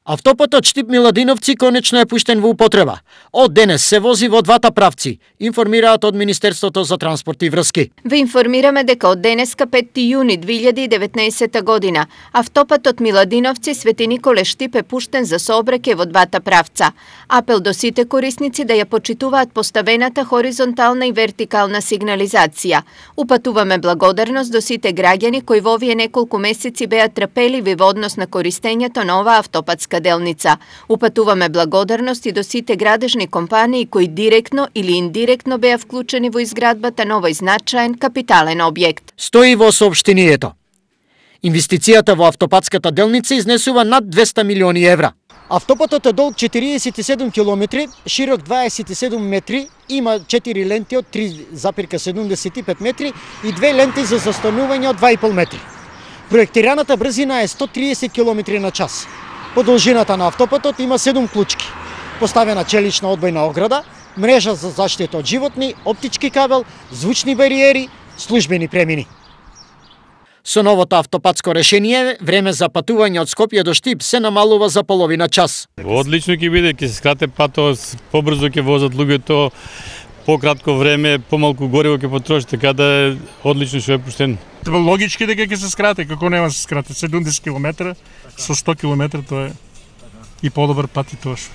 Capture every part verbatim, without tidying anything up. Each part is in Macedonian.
Автопатот Штип-Миладиновци конечно е пуштен во употреба. Од денес се вози во двата правци, информираат од Министерството за транспорт и врски. Ве информираме дека од денеска петти јуни две илјади и деветнаесета година автопатот Миладиновци Свети Николе Штип е пуштен за сообраќај во двата правца. Апел до сите корисници да ја почитуваат поставената хоризонтална и вертикална сигнализација. Упатуваме благодарност до сите граѓани кои во овие неколку месеци беа трпеливи во однос на користењето на оваа автопатска делница. Упатуваме благодарност и до сите градежни компании кои директно или индиректно беа вклучени во изградбата на овој значаен капитален објект. Стои во соопштението. Инвестицијата во автопатската делница изнесува над двесте милиони евра. Автопатот е долг четириесет и седум километри, широк дваесет и седум метри, има четири ленти од три запирка седумдесет и пет метри и две ленти за застанување од два и пол метри. Проектираната брзина е сто триесет километри на час. По должината на автопатот има седум клучки. Поставена челична одбојна ограда, мрежа за заштита од животни, оптички кабел, звучни бариери, службени премини. Со новото автопатско решение, време за патување од Скопје до Штип се намалува за половина час. Одлично ќе биде, ќе се скрате патот, побрзо ќе возат луѓето, пократко време, помалку гориво ќе потроши, така да е одлично што е пуштен. Логички дека ќе се скрате, како нема се скрате, седумдесет километри со сто километри, тоа е и подобар пат и тоа што.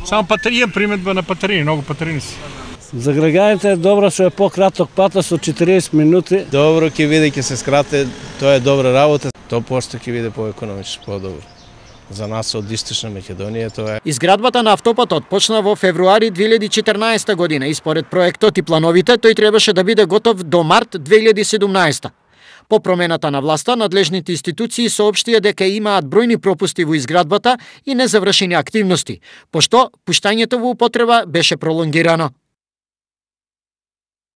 Само патерија приметба на патерии, многу патерини се. За граѓаните е добро што е пократок патот со четириесет минути. Добро ќе биде, ќе се скрате, тоа е добра работа. сто проценти ќе биде поекономично подобро. За нас од Источна Македонија тоа е. Изградбата на автопатот почна во февруари две илјади и четрнаесета година и според проектот и плановите тој требаше да биде готов до март две илјади и седумнаесета. По промената на власта, надлежните институции соопштија дека имаат бројни пропусти во изградбата и незавршени активности, пошто пуштањето во употреба беше пролонгирано.